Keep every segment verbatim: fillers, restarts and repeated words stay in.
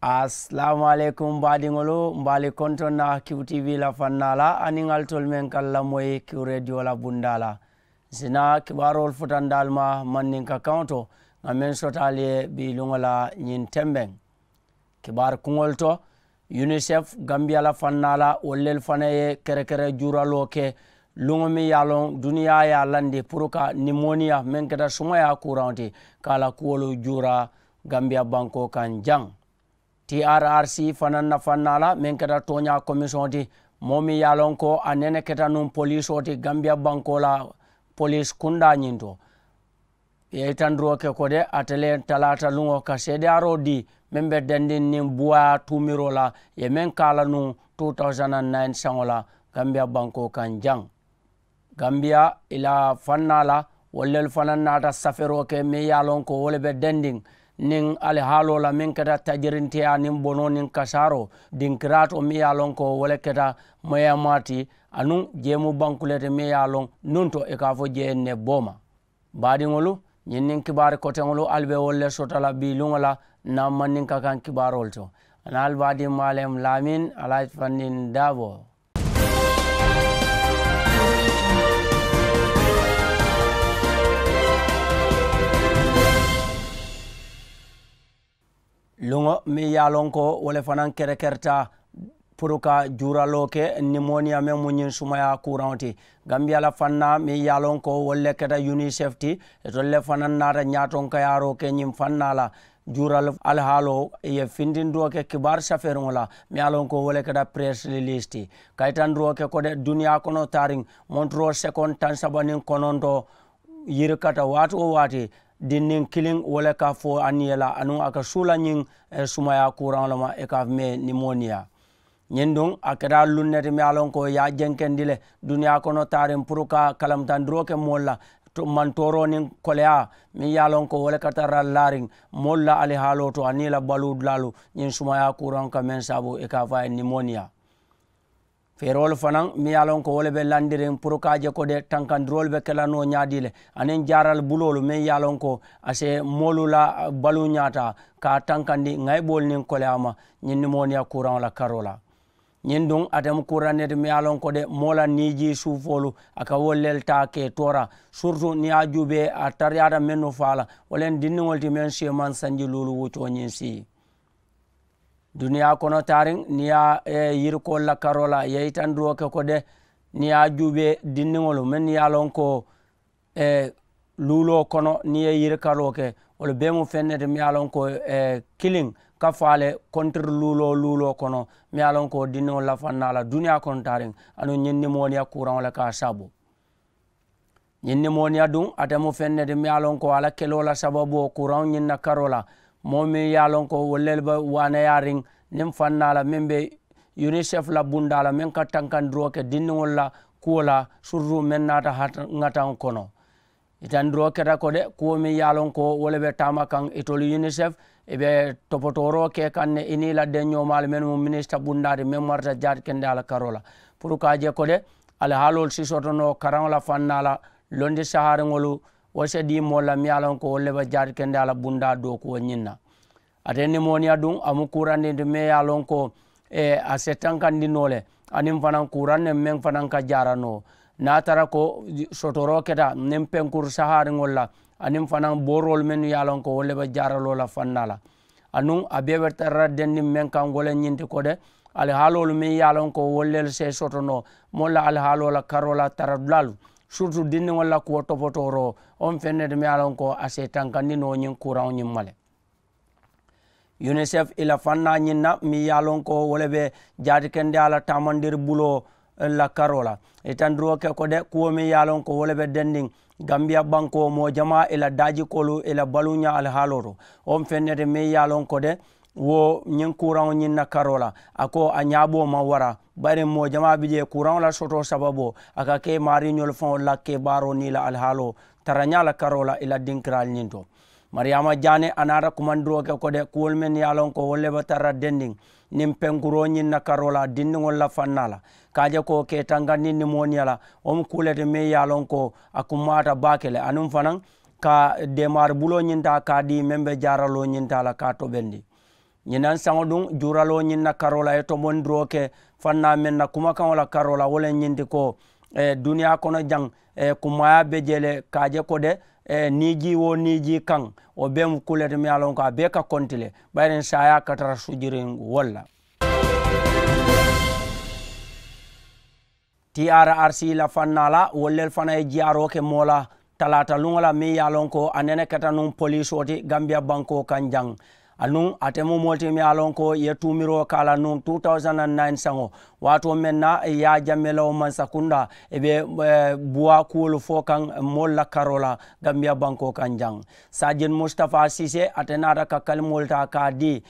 Asalaamu aleykum baadiŋolu, mbe ali kontoŋ na kiw tv la fannaa la aniŋ alitolu meŋ ka lamoyi kiw rediyo la bundaa la. Ǹ si naa kibaaroolu futandi ali ma mandinka kaŋo to, ŋà meŋ soto ali ye bii luŋo la ñiŋ tembeŋ. Kibaari kuŋolu to, unicef gambiya la fannaa la wolu lelu fanaa ye kerekere juuraloo ke luŋo meŋ ye a loŋ duniyaa ye a landi puru ka nimoniya meŋ keta sumayaa kuuraŋo ti ka a la kuwolu juura gambiya bankoo kaŋ jaŋ. Trrc fanaa na fannaa la meŋ keta tooñaa komisiyoŋo ti, moo meŋ ye a loŋ ko a nene keta nuŋ poliisoo ti gambiya bankoo la poliisi kundaa ñiŋ to. Ye itandiroo ke ko de ate le talaata luŋo ka seedeyaaroo dii meŋ be dendiŋ niŋ buwaayaa tuumiroo la ye meŋ ka a la nuŋ two thousand and nine saŋo la gambiya bankoo kaŋ jaŋ. Gambiya i la fannaa la wolu lelu fanaa naata safeeroo ke meŋ ye a loŋ ko wo le be dendiŋ niŋ alihaaloo la meŋ keta tajirinteyaa niŋ bonoo niŋ kasaaroo dinkiraatoo meŋ ye a loŋ ko wo le keta moyaamaa ti anuŋ jeemu banku le ti meŋ ye a loŋ nuŋ to i ka a fo jee ne booma. Baadiŋolu, ñiŋ niŋ kibaari koteŋolu ali be wolu le soto la bii luŋo la ǹ na mandinka kaŋ kibaaroolu to. A na ali baadiŋ maalem laamin alaaji fandin daaboo. Luŋo meŋ ye a loŋ ko wo le fanaŋ kerekerita puru ka juuraloo ke nimoniya meŋ mu ñiŋ sumayaa kuuraŋo ti. Gambiya la fannaa meŋ ye a loŋ ko wolu le keta unicef ti, itolu le fanaŋ naata ñaatonkayaaroo ke ñiŋ fannaa la juural alihaaloo ye fintindiroo ke kibaari safeeriŋo la meŋ ye a loŋ ko wo le keta peresililiisi ti. Kayitandiroo ke ko de duniyaa kono taariŋ monturoo sekoŋ taŋ saba niŋ kononto yirikata waati wo waati dinniŋ kiliŋ wo le ka fo a niŋ ye la anuŋ a ka suu la ñiŋ sumayaa kuuraŋo le ma i ka a fo mee nimoniya. Ñiŋ duŋ a keta luŋ ne ti meŋ ye a loŋ ko i ye a jenkendi le duniyaa kono taariŋ puru ka kalamutandiroo ke moolu la mantooroo niŋ koleyaa meŋ ye a loŋ ko wo le ka tara laariŋ moolu la alihaaloo to aniŋ i la baluu dulaalu ñiŋ sumayaa kuuraŋo ka meŋ saabu i ka a fo a ye nimoniya. Feeroolu fanaŋ meŋ ye a loŋ ko wo le be landiriŋ puru ka a je ko de tankandiroolu be ke la noo ñaadii le aniŋ jaaral buloolu meŋ ye a loŋ ko a si moolu la baluu ñaata ka a tankandi ŋayiboolu niŋ koleyaa ma ñiŋ nimoniya kuuraŋo la karoo la. Ñiŋ duŋ ate mu kuuraŋ ne ti meŋ ye a loŋ ko de moo la niijii suufoolu a ka wolu le taa ke toora surutu niŋ ye a juubee a tariyaata mennu faa la wo le ye dindiŋolu ti meŋ si ye maŋ sanji luulu wuccoo ñiŋ sii. Duniyaa kono taariŋ niŋ ye a yirikoolu la karoo la i ye yitandiroo ke ko de niŋ ye a juubee dindiŋolu mennu ye a loŋ ko luuloo kono niŋ i ye yirikaroo ke wolu bee mu feŋ ne ti meŋ ye a loŋ ko kiliŋ ka faa le kontiri luuloo luuloo kono meŋ ye a loŋ ko dindiŋolu la fannaa la duniyaa kono taariŋ aduŋ ñiŋ nimooniya kuuraŋo le ka a saabu. Ñiŋ nimooniya duŋ ate mu feŋ ne ti meŋ ye a loŋ ko a la keloo la sababoo kuuraŋo ñiŋ na karoo la moo meŋ ye a loŋ ko wolu le be waanayaariŋ niŋ fannaa la meŋ be unicef la bundaa la meŋ ka tankandiroo ke dindiŋolu la kuwo la surutu meŋ naata ŋataŋo kono. Itandiroo keta ko de kuwo meŋ ye a loŋ ko wo le be taama kaŋ itolu unicef i be topotooroo ke kaŋ ne i niŋ i la denñoomaalu mennu mu minisita bundaa ti meŋ marata jaati kendeyaa la karoo la puru ka a je ko de alihaaloolu si soto noo karaŋo la fannaa la londi sahaariŋolu wo se dii moolu la meŋ ye a loŋ ko wolu le be jaati kendeyaa la bundaa dookuwo ñiŋ na. Ate nimooniya duŋ a mu kuurandi ti meŋ ye a loŋ ko a se tankandi noo le aniŋ fanaŋ kuuraŋ ne meŋ fanaŋ ka jaara noo niŋ a tara ko sotoroo keta niŋ penkuru sahaariŋolu la aniŋ fanaŋ booroolu mennu ye a loŋ ko wolu le be jaaraloo la fannaa la. Anuŋ a bee be tara la denniŋ meŋ kaŋ wo le ñiŋ ti ko de alihaaloolu meŋ ye a loŋ ko wolu lelu se soto noo moolu la alihaaloo la karoo la tara dulaalu surutu dindiŋolu la kuwo topotooroo wo mu feŋ ne ti meŋ ye a loŋ ko a se tankandi noo ñiŋ kuuraŋo ñiŋ ma le. Unicef i la fannaa ñiŋ na meŋ ye a loŋ ko wo le be jaati kendeyaa la taamandiri buloo la karoo la. Itandiroo ke ko de kuwo meŋ ye a loŋ ko wo le be dendiŋ gambiya bankoo moo jamaa i la daajikoolu i la baluuñaa alihaaloo to wo mu feŋ ne ti meŋ ye a loŋ ko de wo ñiŋ kuuraŋo ñiŋ na karoo la a ko a ñaaboo maŋ wara bari moo jamaa bi jee kuuraŋo la sotoo sababoo a ka ke maariiñolu faŋolu la kebaaroo niŋ i la alihaaloo tarañaa la karoo la i la dinkiraalu ñiŋ to. Mariyaama jaane a naata kumandiroo ke ko de kuwolu mennu ye a loŋ ko wolu le be tara dendiŋ niŋ penkuroo ñiŋ na karoo la dindiŋolu la fannaa la ka a je ko ke tankandi nimooniya la wo mu kuu le ti meŋ ye a loŋ ko a kummaata baake le aniŋ fanaŋ ka deemaari buloo ñiŋ taa ka a dii meŋ be jaaraloo ñiŋ taa la ka a tobendi. Ñinaŋ saŋo duŋ juuraloo ñiŋ na karoo la ye tomondiroo ke fannaa meŋ na kumakaŋo la karoo la wo le ñiŋ ti ko duniyaa kono jaŋ, kummaayaa be jee le ka a je ko de niijii wo niijii kaŋ wo bee mu kuu le ti meŋ ye a loŋ ko a bee ka konti le. Bayiriŋ saayaa ka tara sujiriŋ wolu la. Trrc la fannaa la wolu le fanaa ye jiyaaroo ke moo la talaata luŋo la meŋ ye a loŋ ko a nene keta nuŋ poliisoo ti gambiya bankoo kaŋ jaŋ. Anuŋ ate mu moo le ti meŋ ye a loŋ ko i ye tuumiroo ka a la nuŋ two thousand and nine saŋo waatoo meŋ na i ye a jammelawo mansakundaa i be buwaa kuwolu fo kaŋ moolu la karoo la gambiya bankoo kaŋ jaŋ. Saajin mustafa siise ate naata ka kalimoolu taa ka a dii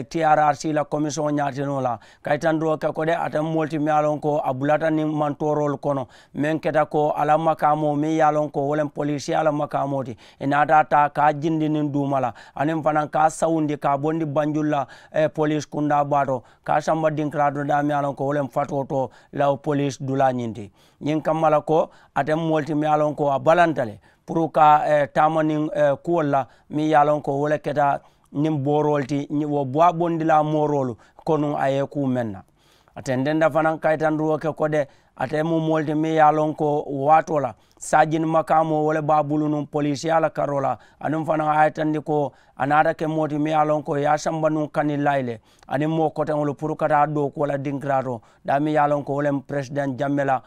trrc la komisiyoŋo ñaatinoo la kayitandiroo ke ko de ate mu moolu ti meŋ ye a loŋ ko a bulata niŋ mantooroolu kono meŋ keta ko a la makaamoo meŋ ye a loŋ ko wo le mu poliisiyaa la makaamoo ti. I naata a taa ka a jindi niŋ duuma la aniŋ fanaŋ ka a sawundi ka a bondi banjulu la poliisi kundaa baa to ka a samba dinkiraa to daa meŋ ye a loŋ ko wo le mu fatoo to la poliisi dulaa ñiŋ ti. Ñiŋ kamma la ko ate mu moolu ti meŋ ye a loŋ ko a balanta le puru ka taama niŋ kuwolu la meŋ ye a loŋ ko wo le keta niŋ booroolu ti wo buwaa bondilaa mooroolu ko nuŋ a ye kuu meŋ na. A tententa fanaŋ kayitandiroo ke ko de ate mu moolu ti meŋ ye a loŋ ko waatoo la saajini makaamoo wo le be a bulu nuŋ poliisiyaa la karoo la aniŋ fanaŋ a ye tandi ko a naata ke moo ti meŋ ye a loŋ ko i ye a samba nuŋ kaniŋ laayi le aniŋ moo koteŋolu puru ka taa dookuwo la dinkiraa to daa meŋ ye a loŋ ko wo le mu peresidaŋ jamme la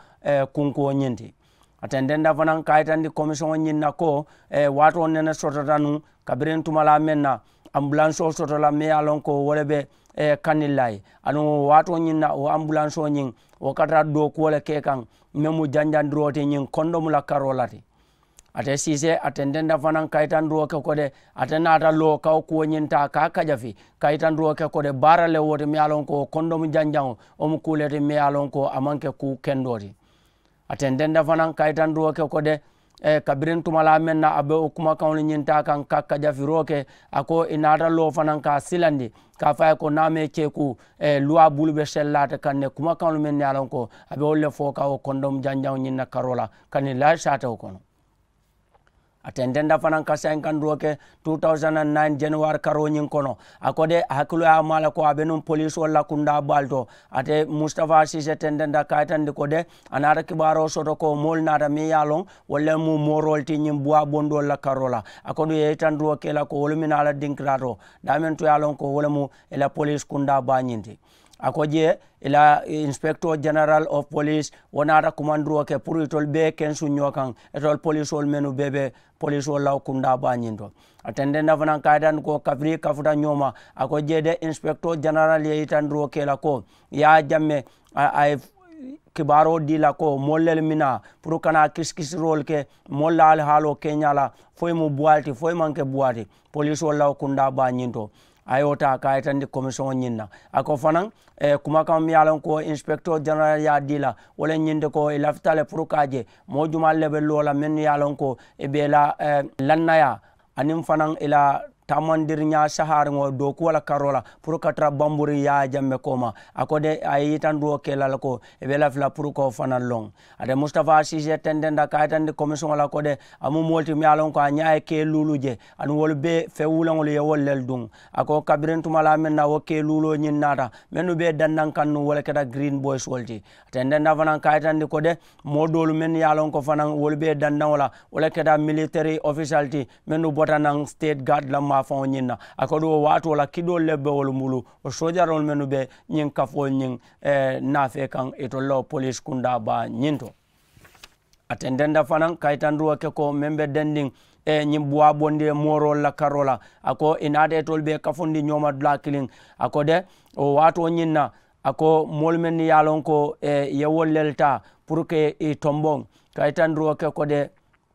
kunkuwo ñiŋ ti. A tententa fanaŋ ka a yitandi komisiyoŋo ñiŋ na ko waatoo nene sotota nuŋ kabiriŋ tumalaa meŋ na ambulansoo soto la meŋ ye a loŋ ko wo le be kaniŋ laayi aduŋ wo waatoo ñiŋ na wo ambulansoo ñiŋ wo ka tara dookuwo le ke kaŋ meŋ mu janjandiroo ti ñiŋ kondomu la karoo la ti. Ate siisee a tententa fanaŋ ka yitandiroo ke ko de ate naata loo ka wo kuwo ñiŋ taa ka a kajafi ka yitandiroo ke ko de baara le wo ti meŋ ye a loŋ ko wo kondomu janjaŋo wo mu kuu le ti meŋ ye a loŋ ko a maŋ ke kuu kendoo ti. A tententa fanaŋ ka yitandiroo ke ko de kabiriŋ tumalaa meŋ na a be wo kumakaŋolu ñiŋ taa kaŋ ka kajafiroo ke a ko i naata loo fanaŋ ka a silandi ka a fo a ye ko niŋ a maŋ i ceekuu luwaa bulu be sellaata kaŋ ne kumakaŋolu meŋ ne ye a loŋ ko a be wolu le fo ka wo kondomu janjaŋo ñiŋ na karoo la kaniŋ laayi saatewo kono. A tententa fanaŋ ka saayiŋ kandiroo ke two thousand and nine januwari karoo ñiŋ kono a ko de a hakkiloo ye a maa le ko a be nuŋ poliisoolu la kundaa baalu to. Ate mustafa siise tententa ka a yitandi ko de a naata kibaaroo soto ko moolu naata meŋ ye a loŋ wolu le mu mooroolu ti ñiŋ buwaa bondoolu la karoo la a ko duŋ i ye yitandiroo ke i la ko wolu minaa la dinkiraa to daameŋ to ye a loŋ ko wo le mu i la poliisi kundaa baa ñiŋ ti. A ko jee i la inspector general of police wo naata kumandiroo ke puru itolu bee kensuŋ ñoo kaŋ itolu poliisoolu mennu bee be poliisoolu la wo kundaa baa ñiŋ to. A tententa fanaŋ ka a yitandi ko kabiriŋ i kafuta ñoo ma a ko jee de inspector general ye yitandiroo ke i la ko i ye a jamme a ye kibaaroo dii la ko moolu lelu minaa puru kana kisikisiroolu ke moolu la alihaaloo keñaa la fo i mu buwaa le ti fo i maŋ ke buwaa ti poliisoolu la wo kundaa baa ñiŋ to. A ye wo taa ka a yitandi komisiyoŋo ñiŋ na a ko fanaŋ kumakaŋo meŋ ye a loŋ ko inspekitoo jenerali ye a dii la wo le ñiŋ ti ko i lafita le puru ka a je moo jumaalu le be loo la mennu ye a loŋ ko i be i la lannayaa aniŋ fanaŋ i la taamandiriñaa sahaariŋo dookuwo la karoo la puru ka tara bamburiŋ yaaya jambe kooma. A ko de a ye yitandiroo ke i la le ko i be i lafi la puru ka wo fanaŋ loŋ. Ate mustafa siisee tententa ka a yitandi komisiŋo la ko de a mu moolu ti meŋ ye a loŋ ko a ñaa ye kee luulu je aniŋ wolu bee feŋ wulaŋolu ye wolu lelu duŋ. A ko kabiriŋ tumalaa meŋ na wo kee luuloo ñiŋ naata mennu be i dandaŋ kaŋ nuŋ wo le keta giriin boyisi wolu ti. A tententa fanaŋ ka a yitandi ko de moo doolu mennu ye a loŋ ko fanaŋ wolu be i dandaŋo la wo le keta militeri ofisali ti mennu bota naŋ siteeti gaadi la maafaŋo ñiŋ na. A ko duŋ wo waatoo la kidoolu le be wolu mulu wo soojaroolu mennu be ñiŋ kafoolu ñiŋ naafee kaŋ itolu la wo poliisi kundaa baa ñiŋ to. A tententa fanaŋ ka yitandiroo ke ko meŋ be dendiŋ ñiŋ buwaa bondi ye mooroolu la karoo la. A ko i naata itolu be i kafundi ñooma dulaa kiliŋ. A ko de wo waatoo ñiŋ na a ko moolu mennu ye a loŋ ko i ye wolu lelu taa puru ka i tomboŋ ka yitandiroo ke ko de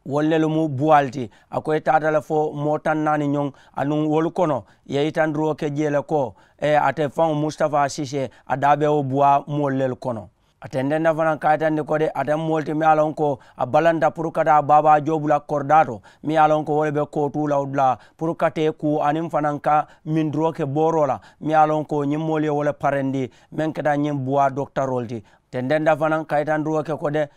wolu lelu mu buwaalu ti. A ko i taata le fo moo taŋ naani ñoŋ aduŋ wolu kono i ye yitandiroo ke jee le ko ate faŋo mustafa siisee a daa be wo buwaa moolu lelu kono. A tententa fanaŋ ka a yitandi ko de ate mu moolu ti meŋ ye a loŋ ko a balanta puru ka taa baabaa joobu la koridaa to meŋ ye a loŋ ko wo le be kootuu la wo dulaa puru ka tee kuu aniŋ fanaŋ ka mindiroo ke booroo la meŋ ye a loŋ ko ñiŋ moolu ye wo le parendi meŋ keta ñiŋ buwaa dokitaroolu ti. Tententa fanaŋ ka yitandiroo ke ko de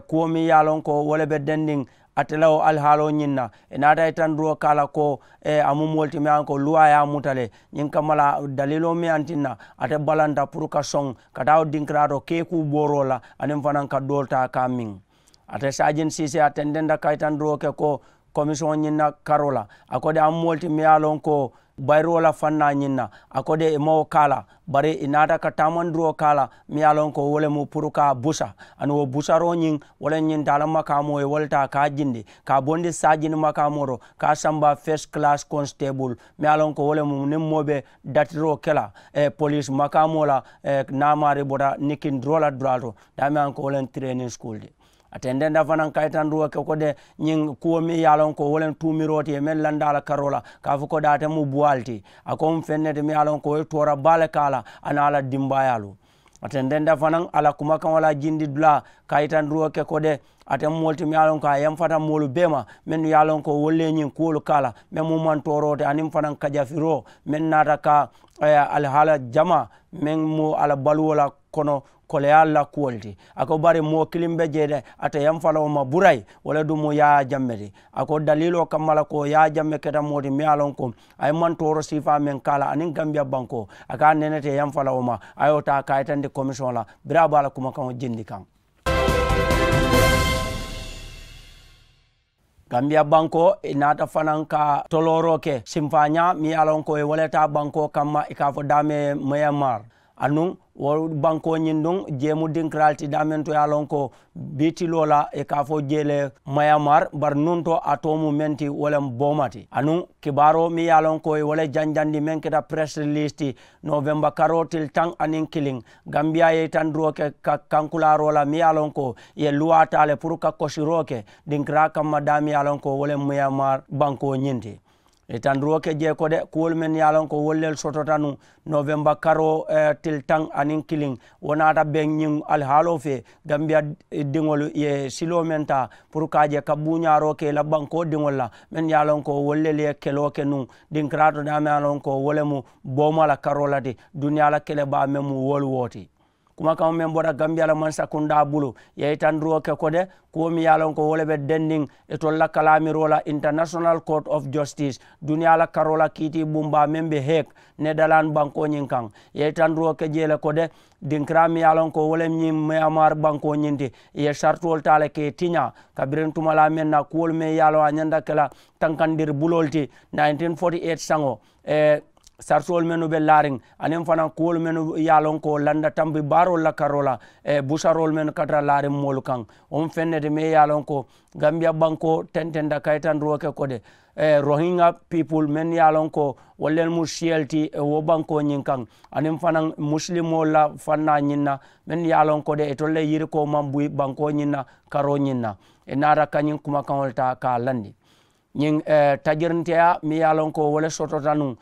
kuwo meŋ ye a loŋ ko wo le be dendiŋ Ate la wo alihaaloo ñiŋ na, ì naata i tanduroo ka a la ko a mu moolu ti meŋ ye a loŋ ko luwaa ye a muta le. Ñiŋ kamma la daliiloo meŋ ye a tinna ate balanta puru ka soŋ ka taa wo dinkiraato keekuu booroo la aniŋ fanaŋ ka doolu taa ka a miŋ. Ate saajin siisee a tententa ka i tanduroo ke ko komisiyoŋo ñiŋ na karoo la, a ko de a mu moolu ti meŋ ye a loŋ ko bayiroo la fannaa ñiŋ na. A ko de ì maŋ wo ka a la, bari ì naata ka taamandiroo ka a la meŋ ye a loŋ ko wo le mu puru ka a busa. Aniŋ wo busaroo ñiŋ wo le ñiŋ taa la makaamoo ye wo le taa ka a jindi ka a bondi saajini makaamoo to ka a samba first class constable meŋ ye a loŋ ko wo le mu niŋ moo be datiroo ke la poliisi makaamoo la. Naamaari bota nikindiroo la dulaa to daameŋ ye a loŋ ko wo le mu training school ti. A tententa fanaŋ ka i tanduwo ke ko de ñiŋ kuwo meŋ ye a loŋ ko wo le mu tuumiroo ti ye meŋ landa a la karoo la ka a fo ko de ate mu buwaa le ti. A ko mu feŋ ne ti meŋ ye a loŋ ko wo ye toora baa le ka a la a niŋ a la dimbaayaalu. A tententa fanaŋ a la kumakaŋo la jindi dulaa ka i tanduwo ke ko de ate mu moolu ti meŋ ye a loŋ ko a yamfata moolu bee ma mennu ye a loŋ ko wolu le ye ñiŋ kuwolu ka a la meŋ mu mantooroo ti aniŋ fanaŋ kajafiroo meŋ naata ka alihaala jamaa meŋ mu a la baluwo la kono koleyaa la kuwolu ti. A ko bari moo kiliŋ be jee de ate yamfaloo ma burayi wo le duŋ mu yaayaa jamme ti. A ko daliiloo kamma la ko yaayaa jamme keta moo ti meŋ ye a loŋ ko a ye mantooro siifaa meŋ ka a la aniŋ gambiya bankoo a ka a nene te yamfaloo ma a ye wo taa ka a yitandi komisiyoŋo la. Biriŋ a be a la kumakaŋo jindi kaŋ. Gambiya bankoo i naata fanaŋ ka tolooroo ke simfaañaa meŋ ye a loŋ ko i wo le taa bankoo kamma i ka a fo daame mayanmar. Anuŋ wo bankoo ñiŋ duŋ jee mu dinkiraalu ti daameŋ to ye a loŋ ko bii tiloo la i ka a fo jee le mayanmar bari nuŋ to a too mu meŋ ti wo le mu booma ti anuŋ kibaaroo meŋ ye a loŋ ko i wo le janjandi meŋ keta press release ti novemba karoo tili taŋ aniŋ kiliŋ. Gambiyaa ye i tandiroo ke ka kankulaaroo la meŋ ye a loŋ ko i ye luwaa taa le puru ka kosiroo ke dinkiraa kamma daa meŋ ye a loŋ ko wo le mu mayanmar bankoo ñiŋ ti. I tandiroo ke jee ko de kuwolu mennu ye a loŋ ko wolu lelu sotota nuŋ novemba karoo tili taŋ aniŋ kiliŋ wo naata beŋ ñiŋ alihaaloo fee. Gambiya diŋolu ye siloo meŋ taa puru ka a je ka buuñaaroo ke i la bankoo diŋolu la mennu ye a loŋ ko wolu lelu ye keloo ke nuŋ dinkiraa to daa meŋ ye a loŋ ko wo le mu booma la karoo la ti duniyaa la kele baa meŋ mu wolu wo ti. Kumakaŋo meŋ bota gambiya la mansakundaa bulu i ye i tandiroo ke ko de kuwo meŋ ye a loŋ ko wo le be dendiŋ itolu la kalaamiroo la international court of justice duniyaa la karoo la kiitii bumbaa meŋ be heek nedalan bankoo ñiŋ kaŋ. I ye i tandiroo ke jee le ko de dinkiraa meŋ ye a loŋ ko wo le ñiŋ mayanmar bankoo ñiŋ ti i ye saritoolu taa le ka i tiñaa kabiriŋ tumalaa meŋ na kuwolu meŋ ye a loŋ a ñanta ke la tankandiri buloolu ti nineteen forty eight saŋo saritoolu mennu be laariŋ aniŋ fanaŋ kuwolu mennu ye a loŋ ko landa tampi baaroolu la karoo la busaroolu mennu ka tara laariŋ moolu kaŋ. Wo mu feŋ ne ti meŋ ye a loŋ ko gambiya bankoo tententa ka i tandiroo ke ko de rohinga people mennu ye a loŋ ko wolu le mu siyolu ti wo bankoo ñiŋ kaŋ aniŋ fanaŋ musilimoolu la fannaa ñiŋ na mennu ye a loŋ ko de itolu le yirikoo maŋ buyi bankoo ñiŋ na karoo ñiŋ na. I naata ka ñiŋ kumakaŋolu taa ka a landi ñiŋ tajirinteyaa meŋ ye a loŋ ko wo le sotota nuŋ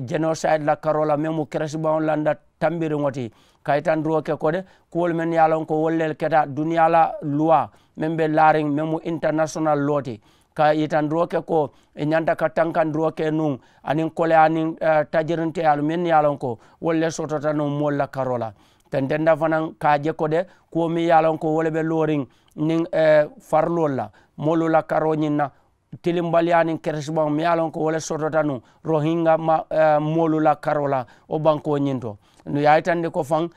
jenosayidi la karoo la meŋ mu keresibaŋo landa tambiriŋo ti ka yitandiroo ke ko de kuwolu mennu ye a loŋ ko wolu le keta duniyaa la luwaa meŋ be laariŋ meŋ mu intanasonal loo ti ka yitandiroo ke ko i ñanta ka tankandiroo ke nuŋ aniŋ koleyaa niŋ tajirinteyaalu mennu ye a loŋ ko wolu le sotota nuŋ moolu la karoo la. Tententa fanaŋ ka a je ko de kuwo meŋ ye a loŋ ko wo le be looriŋ niŋ fariloolu la moolu la karoo ñiŋ na tilimbaliyaa niŋ keresibaŋo meŋ ye a loŋ ko wo le sotota nuŋ rohinga moolu la karoo la wo bankoo ñiŋ to. Nuŋ ye a yitandi ko faŋ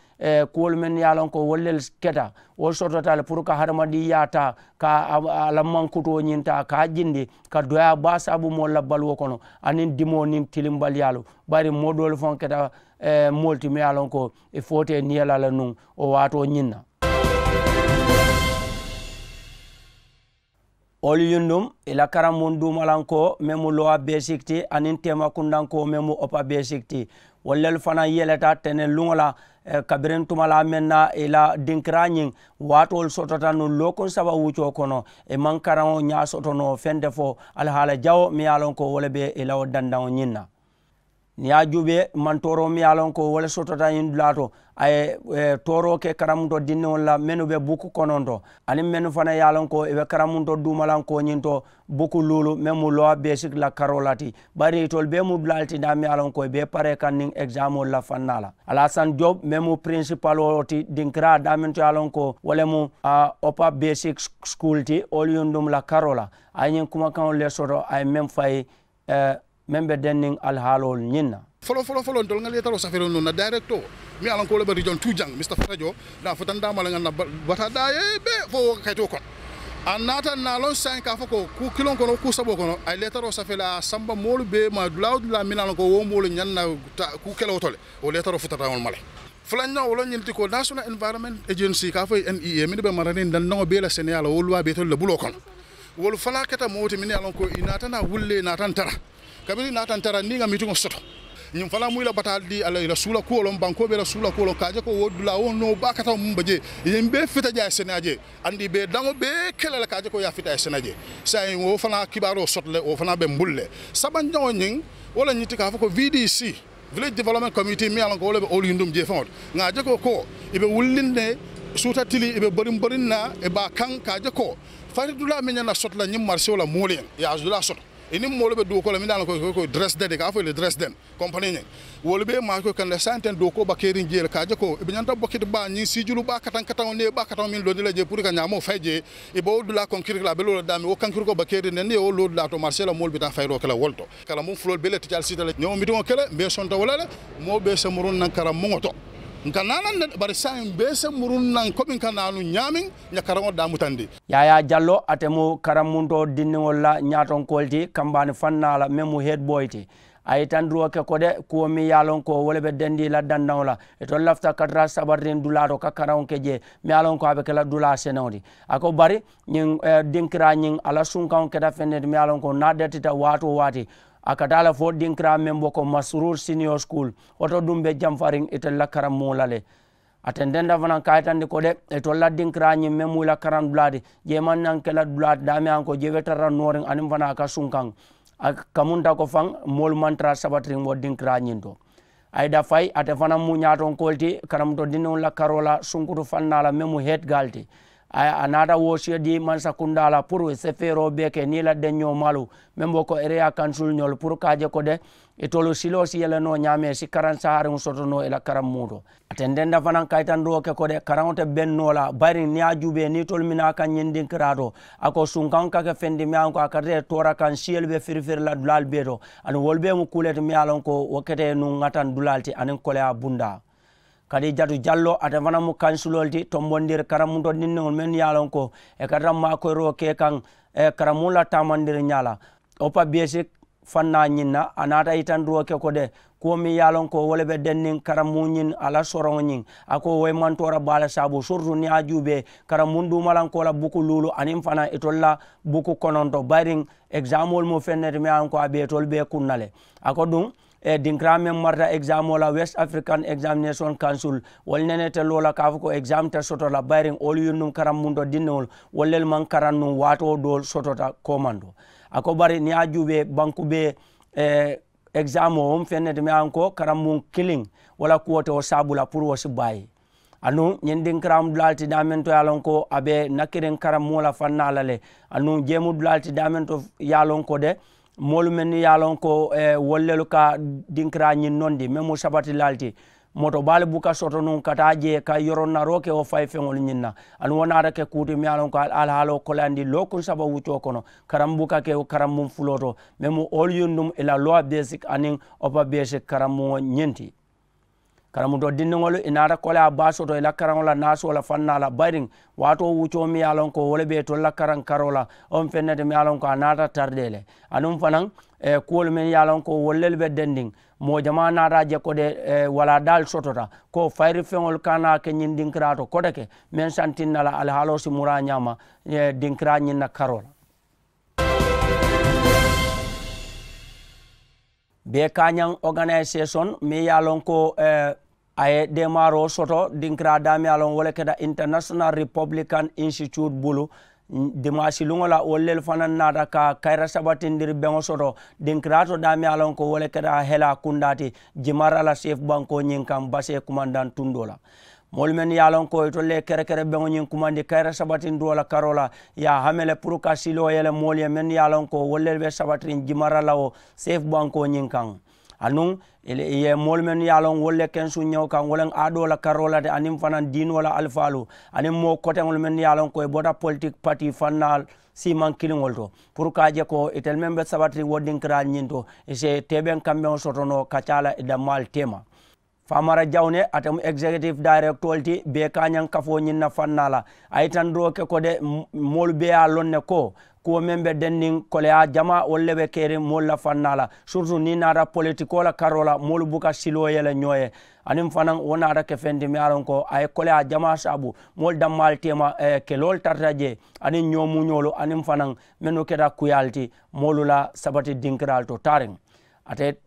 kuwolu mennu ye a loŋ ko wolu le keta wo sotota le puru ka hadamadiŋyaa taa ka a la mankutoo ñiŋ taa ka a jindi ka doyaa baa saabu moolu la baluwo kono aniŋ dimoo niŋ tilimbaliyaalu. Bari moo doolu faŋo keta moolu ti meŋ ye a loŋ ko i footee niŋ ye la le nuŋ wo waatoo ñiŋ na. Wolu yundum i la karambuŋ duumalankoo meŋ mu lowa besik ti aniŋ teemakundankoo meŋ mu opa besik ti. Wolu lelu fanaŋ yeleta teneŋ luŋo la kabiriŋ tumalaa meŋ na i la dinkiraa ñiŋ waatoolu sotota nuŋ lookuŋ saba wuccoo kono. I maŋ karaŋo ñaa soto noo feŋ te fo alihaala jawo meŋ ye a loŋ ko wo le be i la wo dandaŋo ñiŋ na. Niŋ i ye a juubee mantooroo miŋ ye a loŋ ko wo le sotota ñiŋ dulaa to, a ye tooroo ke karamunto dindiŋolu la mennu be buku kononto aniŋ mennu fanaŋ ye a loŋ ko i be karamunto duumalaŋ kooñinto buku luulu meŋ mu lowa besik la karoo la ti. Bari itolu bee mu dulaalu ti daa miŋ ye a loŋ ko i be paree kaŋ niŋ egizaamoolu la fannaa la. Alasan job meŋ mu pirinsipaloo ti dinkiraa daa meŋ to ye a loŋ ko wo le mu opa besik sukuulu ti oliyundum la karoo la. A ye ñiŋ kumakaŋolu le soto a ye meŋ fayi meŋ be denniŋ alihaaloolu ñiŋ na. Foloo foloo foloo ntolu ŋa leetaroo safeeriŋ nuŋ na dayirektoo miŋ ye a loŋ ko wo le be rijoŋ tuujaŋ misita farajo naa futandaama le ŋa na bata daaye bee fo wo ka kayitoo kono. A naata naa loŋ saayiŋ ka a fo ko kuu kiloŋ kono kuu saboo kono a ye leetaroo safee le a ye a samba moolu bee ma dulaa woo dulaa miŋ ye a loŋ ko wo moolu ñaŋ na kuu kelewo to le. Wo leetaroo futata ŋolu ma le. Fulanjaŋo wo le ñiŋ ti ko national environment agency ka a fo ye n e a minnu be maraniŋ dandaŋo bee la seneyaa la wo luwaa be itolu le buloo kono. Wolu fanaa keta moo ti minnu ye a loŋ ko i naata naa wullee naata ntara kabiriŋ i naata ntara niŋ i ŋa mitiŋo soto. Ñiŋ fanaa mu i la bataali dii a la i la suula kuwo loŋ bankoo be i la suula kuwo loŋ ka a je ko wo dulaa wo noo baa kataŋo muŋ be jee i ye mbe fita jee a ye seneyaa jee. Andi i be i daŋo bee ke la le ka a je ko i ye a fita a ye seneyaa jee. Saayiŋ wo fanaa kibaaroo soto le wo fanaa be mbulu le. Sabanjaŋo ñiŋ wo le ñiŋ ti ka a fo ko v d c village development committee miŋ ye a loŋ ko wo le be oliyundum jee faŋo ti ŋa a je ko ko i be wulliŋ ne suuta tili i be boriŋ boriŋ na i be a kaŋ ka a je ko fari dulaa meŋ ñaŋ na soto la ñiŋ marisiwo la moolu ye ŋ i ye a dulaa soto. I niŋ moolu be duukoo la miŋ ye a loŋ ko i ko dresden i ka a fo i le dresden kompanii ñiŋ wolu be maa ko kaŋ le saayiŋ teŋ duukoo ba keeriŋ jee le ka a je ko i be ñanta bokiti baa ñiŋ siijulu baa kataŋ kataŋo niŋ i ye baa kataŋo meŋ londi la jee puru i ka ñaamoo fayi jee. I be wo dulaa konkiriki la a be loo la daameŋ wo kankirikoo ba keeriŋ ne niŋ i ye wo loo dulaa to marisee la moolu be taa fayiroo ke la wo le to. Karambuŋ fuloolu bee le ti ali siita le ñewo mitiŋo ke le mbe sonta wo la le. Moo bee se muruŋ naŋ karambuŋo to. Nka naanaŋ ne bari saayiŋ bee se muruŋ naŋ komi n ka naanu ñaamiŋ. Ña karaŋo daamutandi. Yaayaa jalloo ate mu karambuntoo dindiŋolu la ñaatonkoolu ti kambaani fannaa la meŋ mu heedibooyi ti. A ye itandiroo ke ko de kuwo meŋ ye a loŋ ko wo le be dendii la dandaŋo la. Itolu lafita katara sabaritiŋ dulaa to ka karaŋo ke jee meŋ ye a loŋ ko a be ke la dulaa seneŋo ti. A ko bari ñiŋ dinkiraa ñiŋ a la sunkaŋo keta feŋ ne ti meŋ ye a loŋ ko niŋ a datita waati wo waati a ka taa le fo dinkiraa meŋ bo ko masurur siniyo sukuulu. Wo to duŋ be jamfariŋ itelu la karambuŋo la le. A tententa fanaŋ ka a yitandi ko de itolu la dinkiraa ñiŋ meŋ mu i la karaŋ dulaa ti jee maŋ naŋ ke la dulaa ti daameŋ ye a loŋ ko jee be tara la nooriŋ aniŋ fanaa a ka sunkaŋ. A kamunta ko faŋ moolu maŋ tara sabatiriŋ wo dinkiraa ñiŋ to. Ayida fayi ate fanaŋ mu ñaatonkoolu ti karamuto dindiŋolu la karoo la sunkutu fannaa la meŋ mu heetigaali ti. A naata woosiyo dii mansakundaa la puru i se feeroo bee ke niŋ i la deññoo maalu meŋ be ko eriyaa kansulu ñoolu puru ka a je ko de itolu siloo si yele noo ñaamee si karaŋ sahariŋo soto noo i la karaŋ muuto. A tententa fanaŋ ka yitandiroo ke ko de karaŋo te beŋ noo la bayiriŋ niŋ i ye a juubee niŋ itolu minaa kaŋ ñiŋ dinkiraa to. A ko sunkaŋo ka ke feŋ ti meŋ ye a loŋ ko a ka tara i toora kaŋ siyolu be firifiri la dulaalu bee to. Aniŋ wolu bee mu kuu le ti meŋ ye a loŋ ko wo kete ye nuŋ ŋataŋ dulaalu ti aniŋ koleyaa bundaa. Kadi jatu jalloo ate fanaŋ mu kansiloo le ti tombondiri karambuntoo dindiŋolu mennu ye a loŋ ko i ka tara maakoyiroo ke kaŋ karambuŋo la taamandiriŋ ñaa la. Opa besik fannaa ñiŋ na a naata yitandiroo ke ko de kuwo meŋ ye a loŋ ko wo le be denniŋ karambuŋo ñiŋ a la soroŋo ñiŋ. A ko wo ye mantoora baa le saabu siritu niŋ i ye a juubee karambuŋ duumalankoo la buku luulu aniŋ fanaŋ itolu la buku kononto bayiriŋ. Egizaamoolu mu feŋ ne ti meŋ ye a loŋ ko a be itolu bee kuŋ na le. A ko duŋ dinkiraa meŋ marata egizaamoo la west afirikan egizaamination kansul wolu nene te loo la ka a fo ko egizaamu te soto la bayiriŋ wolu yundum karambuntoo dindiŋolu wolu lelu maŋ karaŋ nuŋ waatoo doolu sotota koomanto. A ko bari niŋ i ye a juubee banku bee egizaamoo wo mu feŋ ne ti meŋ ye a loŋ ko karambuŋ kiliŋ wo la kuwo te wo saabu la puru wo si baayi. Aduŋ ñiŋ dinkiraa mu dulaa le ti daameŋ to ye a loŋ ko a be nakiriŋ karambuŋo la fannaa la le. Aduŋ jee mu dulaa le ti daameŋ to ye a loŋ ko de moolu mennu ye a loŋ ko wolu lelu ka dinkiraa ñiŋ nondi meŋ mu sabatilaalu ti. Moto baalu buka soto nuŋ ka taa jee ka yoronaroo ke wo fayi feŋolu ñiŋ na. Aduŋ wo naata ke kuu ti meŋ ye a loŋ ko alihaaloo koleyaandi lookuŋ saba wuccoo kono karambuŋ buka ke wo karambuŋ fuloo to meŋ mu oolu yundum i la luwa besik aniŋ opa besik karambuŋo ñiŋ ti. Karamutoo dindiŋolu i naata koleyaa baa soto i la karaŋo la naasoo la fannaa la bayiriŋ waatoo wuccoo meŋ ye a loŋ ko wo le be itolu la karaŋ karoo la. Wo mu feŋ ne ti meŋ ye a loŋ ko a naata taridee le. Aduŋ fanaŋ kuwolu meŋ ye a loŋ ko wolu lelu be dendiŋ moo jamaa naata a je ko de walaadaalu sotota ko fayiri feŋolu ka naa ke ñiŋ dinkiraa to koteke meŋ santinna la alihaaloo si muraa ñaama dinkiraa ñiŋ na karoo la. Bee kaañaŋ oganayisesoni meŋ ye a loŋ ko a ye deemaaroo soto dinkiraa daameŋ ye a loŋ wo le keta international republican institute bulu. Dimaasi luŋo la wolu lelu fanaŋ naata ka kayira sabatindiri beŋo soto dinkiraa to daameŋ ye a loŋ ko wo le keta helaa kundaa ti jimara la seefu bankoo ñiŋ kaŋ basee kumandaŋ tundoo la. Moolu mennu ye a loŋ ko itolu le ye kerekere beŋo ñiŋ kumandi kayira sabatindiroo la karoo la ye a hame le puru ka siloo yele moolu ye mennu ye a loŋ ko wolu lelu be sabatiriŋ jimara la wo seefu bankoo ñiŋ kaŋ. Anuŋ i ye moolu mennu ye a loŋ wolu le kensuŋ ñewo kaŋ wo le aadoo la karoo la ti aniŋ fanaŋ diinoo la alifaalu aniŋ moo koteŋolu mennu ye a loŋ ko i bota politiki patii fannaalu siimaŋ kiliŋolu to puru ka a je ko itelu meŋ be sabatiriŋ wo dinkiraalu ñiŋ to i si teebeŋ kambeŋo soto noo ka caa la i dammaalu teema. Faamara jawne ate mu egizekitifu dayirekitoolu ti bee kaañaŋ kafoo ñiŋ na fannaa la a yitandoo ke ko de moolu bee ye a loŋ ne ko kuwo meŋ be denniŋ koleyaa jamaa wolu le be keriŋ moolu la fannaa la siritu niŋ i naata politikoo la karoo la moolu buka siloo yele ñoo ye. Aniŋ fanaŋ wo naata ke feŋ ti meŋ ye a loŋ ko a ye koleyaa jamaa saabu moolu dammaalu teema keloolu tarata jee aniŋ ñoomuñoolu aniŋ fanaŋ mennu keta kuyaalu ti moolu la sabati dinkiraalu to taariŋ. Ate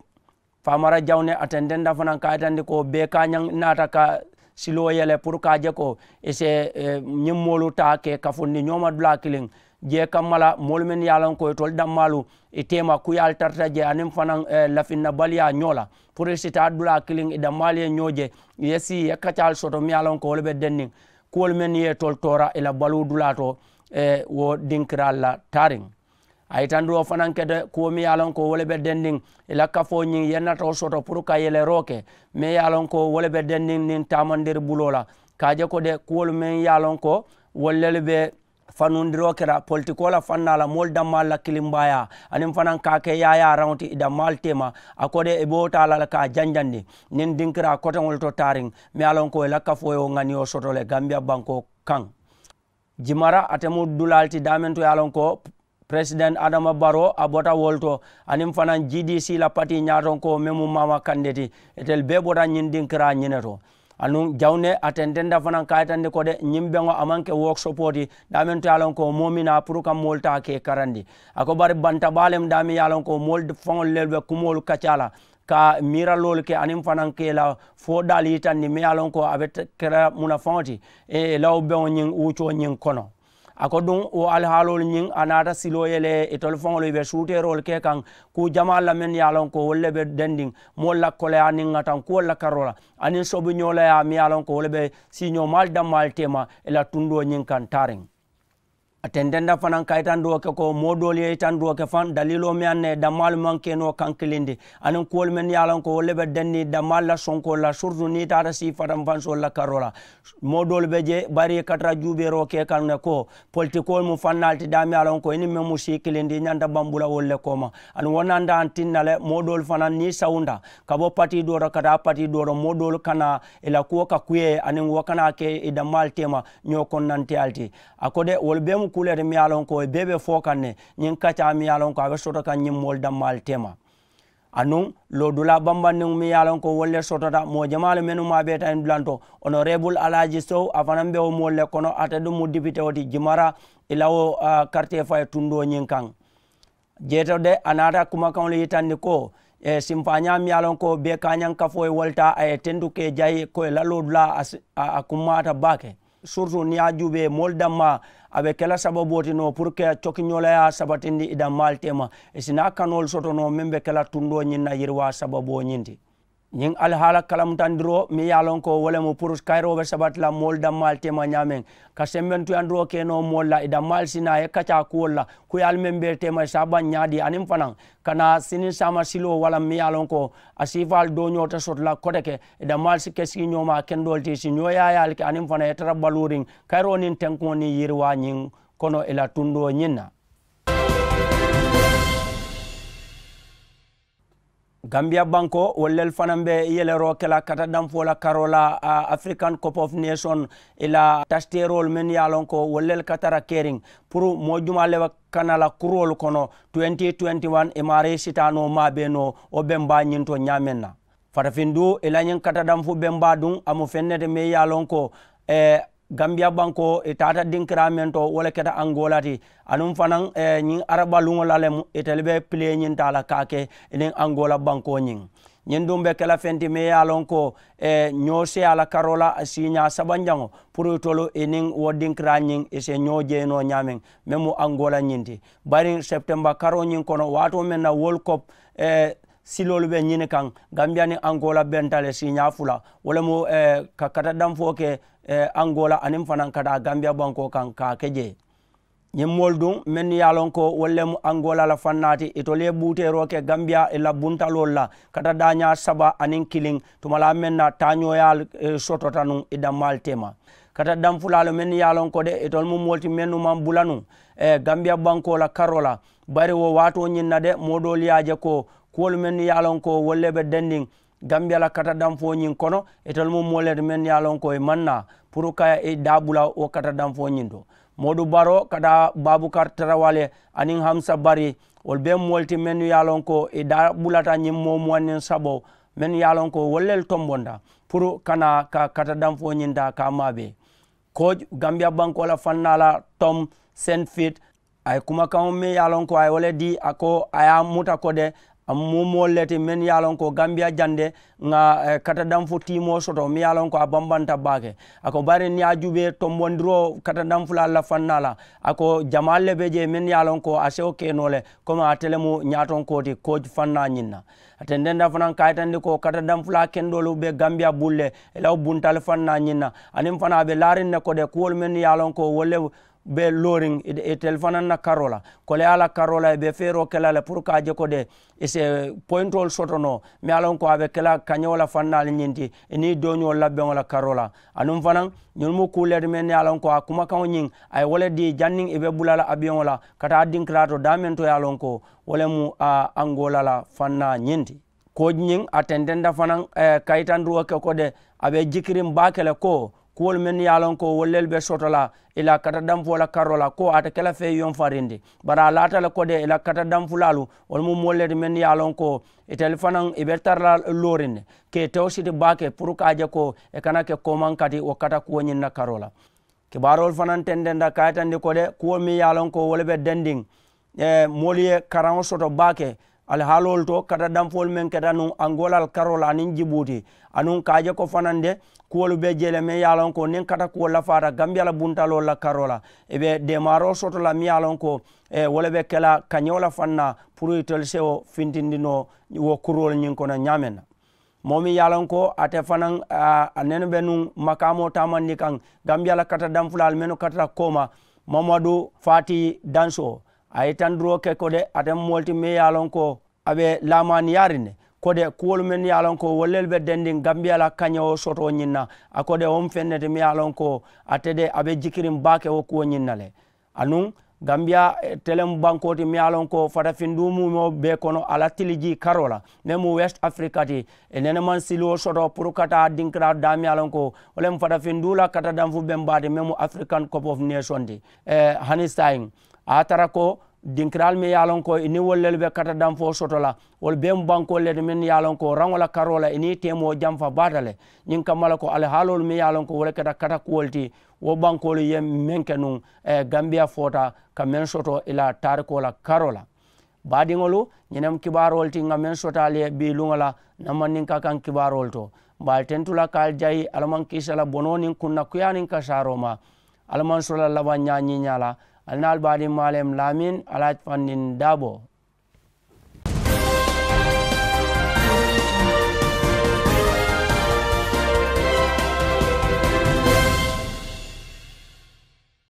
faamara jawne a tententa fanaŋ ka a yitandi ko bee kaañaŋ naata ka siloo yele puru ka a je ko i si ñiŋ moolu taa ke kafundi ñooma dulaa kiliŋ jee kamma la moolu mennu ye a loŋ ko itolu dammaalu i teema kuyaalu tarata je aniŋ fanaŋ lafinnabaliyaa ñoo la puru i si taa dulaa kiliŋ i dammaalu ye ñoo je i ye sii i ye kacaalu soto meŋ ye a loŋ ko wo le be denniŋ kuwolu mennu ye itolu toora i la baluu dulaa to wo dinkiraalu la taariŋ. A yitandoo fanaŋ kete kuwo meŋ ye a loŋ ko wo le be dendiŋ i la kafoo ñiŋ ye natoo soto puru ka yeleroo ke meŋ ye a loŋ ko wo le be dendiŋ niŋ taamandiri buloo la ka a je ko de kuwolu meŋ ye a loŋ ko wolu lelu be fanundiroo kela politikoo la fannaa la moolu dammaalu la kilimbaayaa aniŋ fanaŋ ka a ke yaayaa raŋo ti i dammaalu teema a ko de i be wo taa la le ka a janjandi niŋ dinkiraa koteŋolu to taariŋ meŋ ye a loŋ ko i la kafoo ye wo ŋaniyo soto le gambiya bankoo kaŋ. Jimara ate mu dulaalu ti daameŋ to ye a loŋ ko peresidenti adama baroo a bota wolu to aniŋ fanaŋ g d c la patii ñaatonkoo meŋ mu maama kande ti itelu bee bota ñiŋ dinkiraa ñiŋ ne to. Anuŋ jawne a tententa fanaŋ ka a yitandi ko de ñiŋ beŋo a maŋ ke wookisopoo ti daameŋ to ye a loŋ ko moo miŋ naa puru ka moolu taa ka i karandi a ko bari banta baa le mu daameŋ ye a loŋ ko moolu faŋolu lelu be kumoolu kacaa la ka miiraloolu ke aniŋ fanaŋ ka i la fo daalu yitandi meŋ ye a loŋ ko a be kela munafaŋo ti i la wo beŋo ñiŋ wuccoo ñiŋ kono. A ko duŋ wo alihaaloolu ñiŋ a naata siloo ye le itolu faŋolu i be suuteeroolu ke kaŋ kuu jamaalu la mennu ye a loŋ ko wolu le be dendiŋ moolu la koleyaa niŋ ŋatankuwolu la karoo la aniŋ sobuñoo la yaa meŋ ye a loŋ ko wolu be siiñoomaalu dammaalu teema i la tundoo ñiŋ kaŋ taariŋ. A tententa fanaŋ ka yitandoo ke ko moo doolu ye yitandoo ke faŋ daliiloo meŋ ye a na ye dammaalu maŋ ke noo kaŋ kiliŋ ti aniŋ kuwolu mennu ye a loŋ ko wolu le be dendiŋ dammaalu la sonkoolu la siritu niŋ i taata sii fatanfansoolu la karoo la moo doolu be je bari i ka tara juubeeroo ke kaŋ ne ko politikoolu mu fannaalu ti daameŋ ye a loŋ ko i niŋ meŋ mu sii kiliŋ ti i ñanta bambula wolu le kooma. Aduŋ wo nanta a tinna le moo doolu fanaŋ niŋ i sawunta ka bo patii doo to ka taa patii doo to moo doolu kana i la kuwo ka kuyee aniŋ wo kana ke i dammaalu teema ñoo konnanteyaalu ti. A ko de wolu bee mu kuu le ti meŋ ye a loŋ ko i bee be foo kaŋ ne ñiŋ kacaa meŋ ye a loŋ ko a be soto kaŋ ñiŋ moolu dammaalu teema. Anuŋ loodulaa bambandiŋo meŋ ye a loŋ ko wolu le sotota moo jamaalu mennu maa beeta ñiŋ dulanto onoreebulu alaaji sow a fanaŋ be wo moolu le kono ate duŋ mu dipitewo ti jimara i la wo karitee fayi tundoo ñiŋ kaŋ. Jeeto de a naata kumakaŋolu yitandi ko simpaañaa meŋ ye a loŋ ko bee kaañaŋ kafoo ye wo le taa a ye tentu ka i jayi ko i la loodulaa a kummaata baake. Siritu niŋ i ye a juubee moolu dammaa a be ke la sababoo ti noo puru ka cokiñoolayaa sabatindi i dammaalu teema i si naa kanoolu soto noo meŋ be ke la tundoo ñiŋ na yiriwaa sababoo ñiŋ ti. Ñiŋ alihaala kalamutandiroo meŋ ye a loŋ ko wo le mu puru kayiroo be sabati la moolu dammaalu teema ñaameŋ ka sembentuyandiroo ke noo moolu la i dammaalu si naa ye kacaa kuwolu la kuyaalu meŋ be teema i si a baŋ ñaadii aniŋ fanaŋ ka naa siniŋ saama siloo walla meŋ ye a loŋ ko a siifaalu dooñoo te soto la kote ke i dammaalu si ke siiñoomaa kendoolu ti i si ñoo yaayaalu ke aniŋ fanaŋ i ye tara baluuriŋ kayiroo niŋ tenkuŋo niŋ yiriwaa ñiŋ kono i la tundoo ñiŋ na. Gambiya bankoo wolu lelu fanaŋ be yeleroo ke la kata danfoo la karoo la afirikan kopofu neesoŋ i la tasiteeroolu mennu ye a loŋ ko wolu lelu ka tara keriŋ puru moo jumaa le be kana la kuroolu kono tuwenti tuwenti wan i maarii sitaanoo maa bee noo wo bembaa ñinto ñaameŋ na. Fatafindu i la ñiŋ kata danfu bembaa duŋ a mu feŋ ne ti meŋ ye a loŋ ko gambiya bankoo i taata dinkiraa meŋ to wo le keta angola ti. Anuŋ fanaŋ ñiŋ araba luŋo la lemu itelu be pilee ñiŋ taa la ka a ke i niŋ angola bankoo ñiŋ. Ñiŋ duŋ be ke la feŋ ti meŋ ye a loŋ ko ñoo seyaa la karoo la siiñaa sabanjaŋo puru itolu i niŋ wo dinkiraa ñiŋ i si ñoo jeyinoo ñaameŋ meŋ mu angola ñiŋ ti. Bari septemba karoo ñiŋ kono waatoo meŋ na world cup siloolu be ñini kaŋ, gambiya niŋ angola benta le siiñaa fula wo le mu ka kata danfoo ke angola aniŋ fanaŋ ka taa gambiya bankoo kaŋ ka a ke jee. Ñiŋ moolu duŋ mennu ye a loŋ ko wolu le mu angola la fannaa ti itolu ye buuteeroo ke gambiya i la buntaloolu la kata daañaa saba aniŋ kiliŋ tumalaa meŋ na taañooyaalu sotota nuŋ i dammaalu teema. Kata danfulaalu mennu ye a loŋ ko de itolu mu moolu ti mennu maŋ bula nuŋ gambiya bankoo la karoo la. Bari wo waatoo ñiŋ na de moo doolu ye a je ko kuwolu mennu ye a loŋ ko wolu le be dendiŋ gambiya la kata danfoo ñiŋ kono itelu mu moolu le ti mennu ye a loŋ ko i maŋ naa puru ka i daa bula wo kata danfoo ñiŋ to. Moodu baroo ka taa baabukar tarawale aniŋ hamsa bari wolu bee moolu ti mennu ye a loŋ ko i daa bulata ñiŋ moo muwanniŋ saboo mennu ye a loŋ ko wolu le tombonta puru ka naa ka kata danfoo ñiŋ taa ka a maabee. Kooc gambiya bankoo la fannaa la tom sent fit a ye kumakaŋo meŋ ye a loŋ ko a ye wo le dii a ko a ye a muta ko de a mu moolu le ti meŋ ye a loŋ ko gambiya jande ŋa kata danfu tiimoo soto meŋ ye a loŋ ko a bambanta baake. A ko bari niŋ ye a juubee tombondiroo kata danfulaalu la fannaa la a ko jamaalu le be jee meŋ ye a loŋ ko a sewo ke noo le komi ate le mu ñaatonkoo ti kooc fannaa ñiŋ na. A tententa fanaŋ ka a yitandi ko kata danfulaa kendoolu be gambiya bulu le i la wo buntali fannaa ñiŋ na aniŋ fanaa a be laariŋ ne ko de kuwolu meŋ ye a loŋ ko wolu le be looriŋ itelu fanaŋ na karoo la koleyaa la karoo la i be feeroo ke la le puru ka a je ko de i si poyintoolu soto noo meŋ ye a loŋ ko a be ke la kañewo la fannaalu ñiŋ ti i niŋ i dooñoolu la beŋo la karoo la. Anuŋ fanaŋ ñolu mu kuu le ti meŋ ye a loŋ ko a kumakaŋo ñiŋ a ye wo le dii janniŋ i be bula la abiyoŋo la ka taa dinkiraa to daameŋ to ye a loŋ ko wo le mu angola la fannaa ñiŋ ti. Kooji ñiŋ a tententa fanaŋ ka yitandiroo ke ko de a be jikiriŋ baake le ko kuwolu mennu ye a loŋ ko wolu lelu be soto la i la kata danfoo la karoo la ko ate ke la fee yonfarindi bari a laata le ko de i la kata danfulaalu wolu mu moolu le ti mennu ye a loŋ ko itelu fanaŋ i be tara la looriŋ ne ka i tewo siti baake puru ka a je ko i kana ke koomaŋ kati wo kata kuwo ñiŋ na karoo la. Kibaaroolu fanaŋ tententa ka a yitandi ko de kuwo meŋ ye a loŋ ko wo le be dendiŋ moolu ye karaŋo soto baake alihaaloolu to kata danfoolu meŋ keta nuŋ angola la karoo la aniŋ jibuuti anuŋ ka a je ko fanaŋ de kuwolu be jee le meŋ ye a loŋ ko niŋ kata kuwo lafaata gambiya la buntaloolu la karoo la i be deemaaroo soto la meŋ ye a loŋ ko wo le be ke la kañewo la fannaa puru itelu sewo fintindi noo wo kuroolu ñiŋ kono ñaameŋ na. Moo meŋ ye a loŋ ko ate fanaŋ a nene be nuŋ makaamoo taamandi kaŋ gambiya la kata danfulaalu mennu katata kooma mamadu faati dansoo a ye tandiroo ke ko de ate moolu ti meŋ ye a loŋ ko a be laamaaniyaariŋ ne ko de kuwolu mennu ye a loŋ ko wolu lelu be dendiŋ gambiya la kañewo sotoo ñiŋ na a ko de wo mu feŋ ne ti meŋ ye a loŋ ko ate de a be jikiriŋ baake wo kuwo ñiŋ na le. Anuŋ gambiya teleŋ bankoo ti meŋ ye a loŋ ko fatafinduu mumoo bee kono a la tilijii karoo la meŋ mu west afirika ti i nene maŋ siliwo soto puru ka taa dinkiraa daa meŋ ye a loŋ ko wo le mu fatafinduu la kata danfu beŋ baa ti meŋ mu afirikan kopofu neesoŋ ti. Hani saayiŋ a ye a tara ko dinkiraalu meŋ ye a loŋ ko i niŋ wolu lelu be kata danfoo soto la wolu bee mu bankoolu le ti mennu ye a loŋ ko raŋo la karoo la i niŋ i teemoo jamfa baata le. Ñiŋ kamma le ko alihaaloolu meŋ ye a loŋ ko wo le keta kata kuwolu ti wo bankoolu ye meŋ ke nuŋ gambiya foota ka meŋ soto i la taarikoo la karoo la. Baadiŋolu ñiŋ ne mu kibaaroolu ti ŋa meŋ soto ali ye bii luŋo la na mandinka kaŋ kibaaroolu to mbe ali tentu la ka ali jayi ali maŋ kiisa la bonoo niŋ kunna kuyaa niŋ kasaaroo ma. Ali maŋ sola labaŋ ñaa ñiiñaa la ali na ali baadiŋ maaleem laamin ali a fandin daaboo.